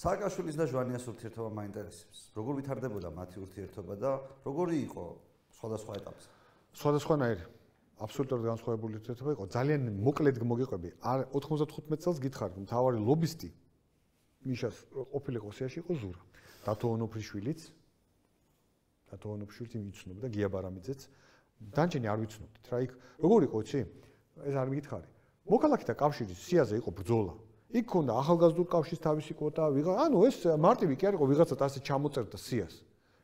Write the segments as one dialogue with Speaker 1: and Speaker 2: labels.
Speaker 1: სააკაშვილის და ჟვანიას ურთიერთობა მაინტერესებს. როგორ ვითარდებოდა მათი ურთიერთობა და როგორი იყო სხვადასხვა ეტაპზე?
Speaker 2: სხვადასხვანაირი. აბსოლუტურად განსხვავებული ურთიერთობა იყო. ძალიან მოკლედ მოგიყვები. 95 წელს გითხარ, მთავარი ლობისტი მიშას ყოფილიყო სიაში იყო ზურა. დათო ონოფრიშვილიც. დათო ონოფრიშვილიც იცნობდა გია ბარამიძეც. დანჯენი არ ვიცნობდით რა იქ. როგორ იყო იცი? ეს არ მიგითხარი. მოქალაქეთა კავშირის სიაზე იყო ბრძოლა. იქ ქონდა ახალგაზრდულ კავშირის თავისი კვოტა, ანუ ეს მარტივი კი არ იყო ვიღაცად ასე ჩამოწერდა სიას.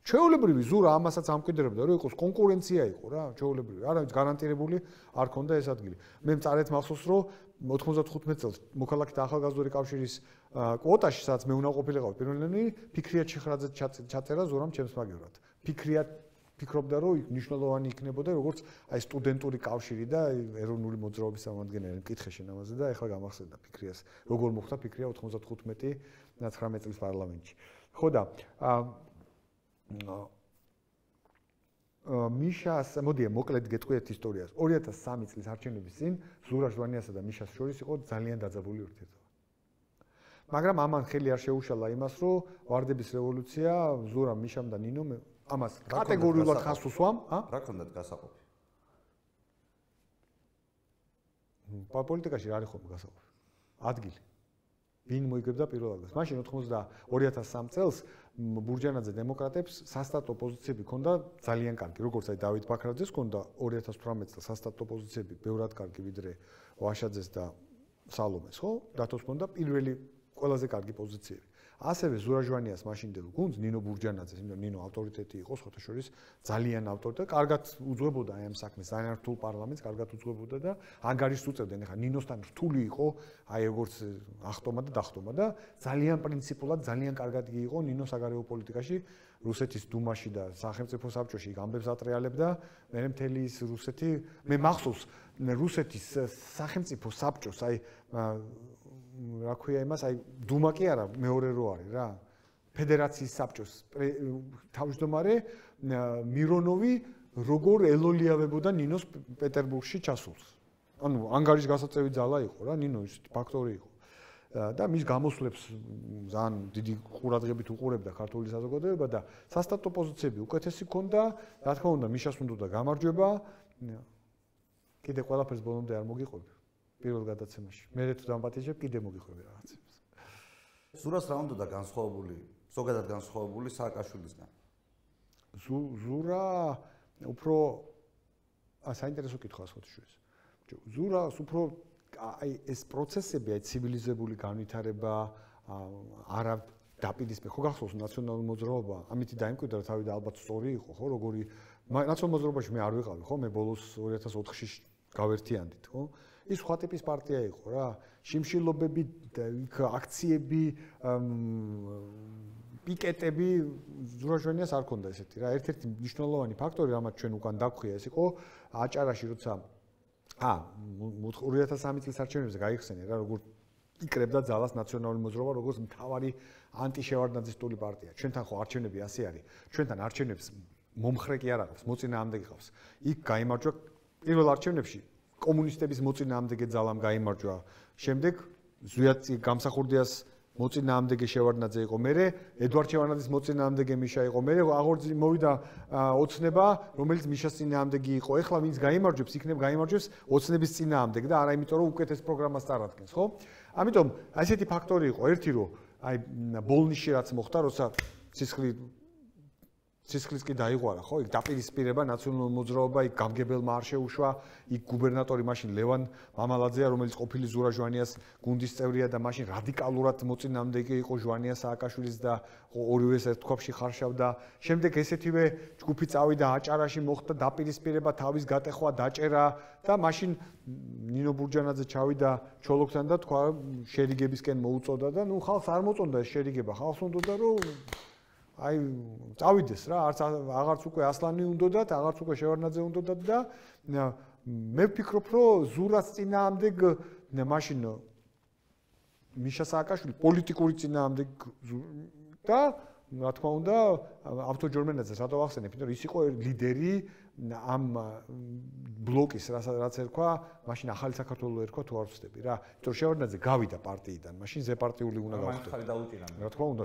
Speaker 2: ჩვეულებრივი ზურა ამასაც ამკვიდრებდა, რომ იყოს კონკურენცია იყო რა, ჩვეულებრივი. არავის გარანტირებული არ ქონდა ეს ადგილი. მე მწარეთ მახსოვს, რომ 95 წელს მოქალაქეთა ახალგაზრდული კავშირის კვოტაში, სადაც მე უნდა ყოფილიყავ პირველი, ფიქრიათ შეხრაძე ჩაწერა ზურამ ჩემს მაგევრად. ფიქრობდა, რომ მნიშვნელოვანი იქნებოდა როგორც აი სტუდენტური კავშირი და ეროვნული მოძრაობის წარმომადგენელი მკითხე შენ ამაზე და ეხლა გამახსენდა ფიქრიას. როგორ მოხდა ფიქრია 95-19 წლის პარლამენტში. ხო და მიშას, მოდი მოკლედ გეტყვი ერთ ისტორიას. 2003 წლის არჩევნების წინ ზურა ჟვანიასა და მიშას შორის იყო ძალიან დაძაბული ურთიერთობა. მაგრამ ამან ხელი არ შეუშალა იმას, რომ ვარდების რევოლუცია ზურამ, მიშამ და ნინომ ამას კატეგორიულად ხაზს უსვამ,
Speaker 1: რა ქონდათ გასაყოფი?
Speaker 2: პოლიტიკაში რა არის ხოლმე გასაყოფი? ადგილი. ვინ მოიგებდა პირველ ადგილს? მაშინ 2003 წელს ბურჯანაძე დემოკრატებს სასტატო პოზიციები ჰქონდა ძალიან კარგი, როგორც აი დავით ბაქრაძეს ჰქონდა 2018 წელს სასტატო პოზიციები ბევრად კარგი ვიდრე ვაშაძეს და სალომეს, ხო? დათოს ჰქონდა პირველი ყველაზე კარგი პოზიციები. ასევე ზურა ჟვანიას მაშინდელ გუნდს ნინო ბურჯანაძეს, იმიტომ ნინო ავტორიტეტი იყო სხვათა შორის ძალიან ავტორიტეტი, კარგად უძღვებოდა აი ამ საქმეს, ძალიან რთულ პარლამენტს კარგად უძღვებოდა და ანგარიშს უწევდნენ. ეხლა ნინოსთან რთული იყო აი როგორც ახტომა და დახტომა და ძალიან პრინციპულად, ძალიან კარგად იყო ნინო საგარეო პოლიტიკაში, რუსეთის დუმაში და სახელმწიფო საბჭოში ამბებს ატრიალებდა. მე მთელი ის რუსეთი, მე მახსოვს რუსეთის სახელმწიფო საბჭოს აი რა ქვია იმას, აი დუმა კი არა, მეორე რო არის რა. ფედერაციის საბჭოს თავმჯდომარე მირონოვი როგორ ელოლიავებოდა ნინოს პეტერბურგში ჩასულს. ანუ ანგარიშის გასაწევი ძალა იყო რა, ნინო ის ფაქტორი იყო. და მის გამოსვლებს ძალიან დიდი ყურადღებით უყურებდა ქართული საზოგადოება და სასტატო პოზიციები უკეთესი ქონდა, რა თქმა უნდა, მიშას უნდა გამარჯვება. კიდე ყველაფერს ბოლომდე არ მოგიყვები. პირველ გადაცემაში. მე თუ დამპატიჟებ, კიდე მოგიყვები რაღაცებს.
Speaker 1: ზურას რა უნდა და განსხვავებული, ზოგადად განსხვავებული სააკაშვილისგან?
Speaker 2: ზურა უფრო საინტერესო კითხვაა სხვათაშორის. ზურას უფრო აი ეს პროცესები, აი ცივილიზებული განვითარება, არა დაპირისპირება. ხო გახსოვს ნაციონალური მოძრაობა, ამითი დაიმკვიდრა თავი და ალბათ სწორი იყო, ხო, როგორი ნაციონალურ მოძრაობაში მე არ ვიყავი, ხო, მე ბოლოს 2004-ში გავერთიანდით, ხო? ის სხვა ტიპის პარტია იყო რა. შიმშილობები, აქციები, პიკეტები ზურა ჟვანიას არ ქონდა ესეთი რა. ერთ-ერთი მნიშვნელოვანი ფაქტორი, რამაც ჩვენ უკან დაგვხია, ეს იყო აჭარაში, როცა 2003 წლის არჩევნებზე გაიხსენე რა, როგორ იკრებდა ძალას ნაციონალური მოძრაობა, როგორც მთავარი ანტიშევარდნაძისტული პარტია. ჩვენთან ხო არჩევნები ასე არის. ჩვენთან არჩევნებს მომხრე კი არ აქვს, მოწინააღმდეგე ყავს. იქ გაიმარჯვა პირველ არჩევნებში კომუნისტების მოწინააღმდეგე ძალამ გაიმარჯვა. შემდეგ ზვიად გამსახურდიას მოწინააღმდეგე შევარდნაძე იყო, მერე ედვარდ შევარდნაძის მოწინააღმდეგე მიშა იყო, მერე აღორძი მოვიდა ოცნება, რომელიც მიშას წინააღმდეგე იყო. ეხლა ვინც გაიმარჯვებს, იქნებ გაიმარჯვებს ოცნების წინააღმდეგე და არა იმიტომ რომ უკეთეს პროგრამას წარადგენს, ხო? ამიტომ ასეთი ფაქტორი იყო, ერთი რომ აი ბოლნიში რაც მოხდა, როცა სისხლის კი დაიღვარა, ხო? იქ დაპირისპირება ნაციონალური მოძრაობა, იქ გამგებელმა არ შეუშვა, იქ გუბერნატორი მაშინ ლევან მამალაძეა, რომელიც ყოფილი ზურა ჟვანიას გუნდის წევრია და მაშინ რადიკალურად მოწინააღმდეგე იყო ჟვანიას სააკაშვილის და ორივეს ერთ ქვაბში ხარშავდა. შემდეგ ესეთივე ჯგუფი წავიდა აჭარაში, მოხდა დაპირისპირება, თავის გატეხვა, დაჭერა და მაშინ ნინო ბურჯანაძე ჩავიდა ჩოლოქთან და თქვა შერიგებისკენ მოუწოდა და ნუ ხალხს არ მოწონდა ეს შერიგება, ხალხს უნდოდა რომ აი წავიდეს რა, აღარც უკვე ასლანი უნდოდათ, აღარც უკვე შევარდნაძე უნდოდათ და მე ვფიქრობ, რომ ზურას წინააღმდეგ მაშინ მიშა სააკაშვილი პოლიტიკური წინააღმდეგ და რა თქმა უნდა, ავტოჯორმენაძეს რატო ახსენებ, იმიტომ რომ ის იყო ლიდერი ამ ბლოკის, რაც ერქვა, მაშინ ახალი საქართველო ერქვა თუ არ ვცდები რა. იმიტომ რომ შევარდნაძე გავიდა პარტიიდან, მაშინ ზეპარტიული უნდა გავხდე. რა თქმა უნდა,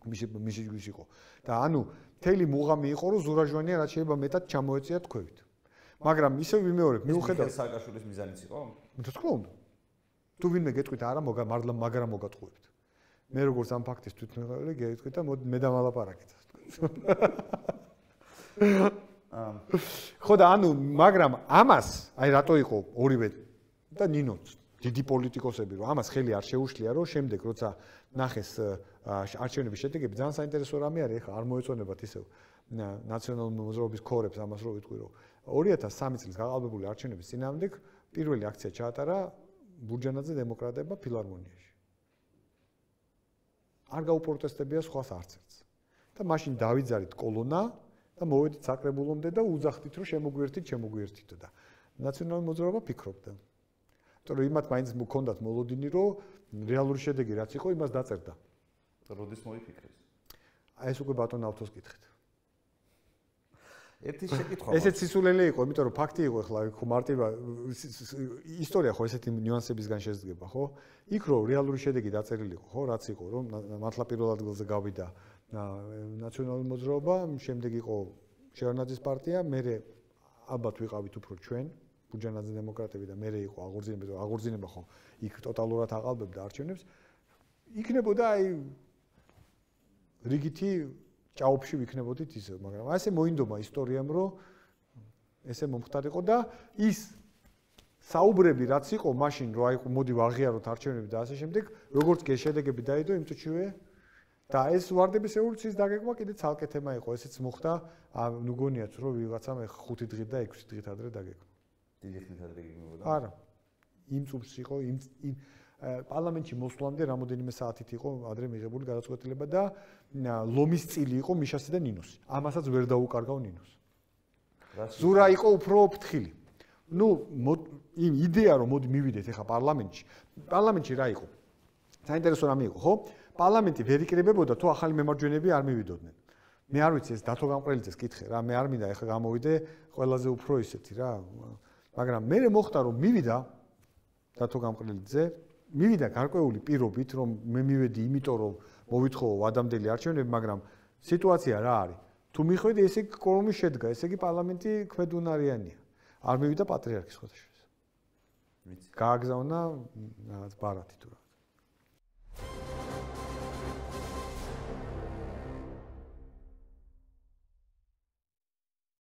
Speaker 2: მის იყო. და ანუ მთელი მუღამი იყო, რომ ზურაჟვანია რაც შეიძლება მეტად ჩამოეწია თქვევით. მაგრამ ისე ვიმეორებ, მიუხედავად
Speaker 1: სააკაშვილის მიზანიც იყო?
Speaker 2: რა თქმა უნდა. თუ ვინმე გეტყვით არა, მართლა მაგრამ მოგატყუებთ. მე როგორც ამ ფაქტის თვითმფრინავი გეტყვით და მე დამალაპარაკეთ. ხო და ანუ მაგრამ ამას აი რატო იყო ორივე და ნინოც დიდი პოლიტიკოსები რომ ამას ხელი არ შეუშლია რომ შემდეგ როცა ნახეს არჩევნების შედეგები ძალიან საინტერესო რამე არის ეხლა არ მოეწონებათ ისევ ნაციონალური მოძრაობის ქორებს ამას რო ვიტყვი რომ 2003 წლის გაყალბებული არჩევნების წინააღმდეგ პირველი აქცია ჩაატარა ბურჯანაძე დემოკრატებმა ფილარმონიაში არ გაუპროტესტებია სხვას არც ერთს და მაშინ დავიძარით კოლონა და მოვედით საკრებულომდე და უძახდით რომ შემოგვიერთით და ნაციონალური მოძრაობა ფიქრობდა. იმიტომ რომ იმათ მაინც მქონდათ მოლოდინი რომ რეალური შედეგი რაც იყო იმას დაწერდა.
Speaker 1: როდის მოიფიქრეს?
Speaker 2: აი ეს უკვე ბატონ ავთოს კითხეთ.
Speaker 1: ერთი შეკითხვა.
Speaker 2: ესეც სისულელე იყო, იმიტომ რომ ფაქტი იყო ახლა ხო მარტივა ისტორია ხო ესეთი ნიუანსებისგან შედგება, ხო? იქ რო რეალური შედეგი დაწერილი იყო, ხო, რაც იყო რომ მართლა პირველ ადგილზე გავიდა ნაციონალური მოძრაობა, შემდეგ იყო შევარდნაძის პარტია, მერე ალბათ ვიყავით უფრო ჩვენ, ბურჯანაძე დემოკრატები და მერე იყო აღორძინება ხო იქ ტოტალურად აყალბებდა არჩევნებს. იქნებოდა აი რიგითი ჭაობში ვიქნებოდით ისე, მაგრამ ასე მოინდომა ისტორიამ, რომ ესე მომხდარიყო და ის საუბრები რაც იყო მაშინ, რომ აი მოდი ვაღიაროთ არჩევნები და ასე შემდეგ, როგორც კი შედეგები დაიდო იმ წუთშივე და ეს ვარდების რევოლუციის დაგეგმა კიდე ცალკე თემა იყო, ესეც მოხდა, ნუ გონიათ რომ ვიღაცამ 5 დღით და 6 დღით ადრე დაგეგმა.
Speaker 1: დიდი ხნით ადრე გიგმებოდა?
Speaker 2: არა. იმ წუთს იყო, იმ პარლამენტში მოსვლამდე რამოდენიმე საათით იყო ადრე მიღებული გადაწყვეტილება და ლომის წილი იყო მიშასი და ნინოსი. ამასაც ვერ დაუკარგავ ნინოს. ზურა იყო უფრო ფრთხილი. ნუ იმ იდეა რომ მოდი მივიდეთ ახლა პარლამენტში. პარლამენტში რა იყო? საინტერესო რამე იყო, ხო? პარლამენტი ვერ იკრებებოდა თუ ახალი მემარჯვენეები არ მივიდოდნენ. მე არ ვიცი ეს დათო გამყრელიძეს კითხე რა, მე არ მინდა ახლა გამოვიდე ყველაზე უფრო ისეთი რა. მაგრამ მე მოხდა რომ მივიდა დათო გამყრელიძე, მივიდა გარკვეული პირობით რომ მე მივედი იმიტომ რომ მოვითხოვო ადამიანელი არჩევნები, მაგრამ სიტუაცია რა არის? თუ მიხვედი ესე იგი კორუმი შედგა, ესე იგი პარლამენტი ქვედუნარიანია. არ მივიდა პატრიარქის ხოთაშორის. ვიცი. გააგზავნა რაღაც ბარათი თუ რა.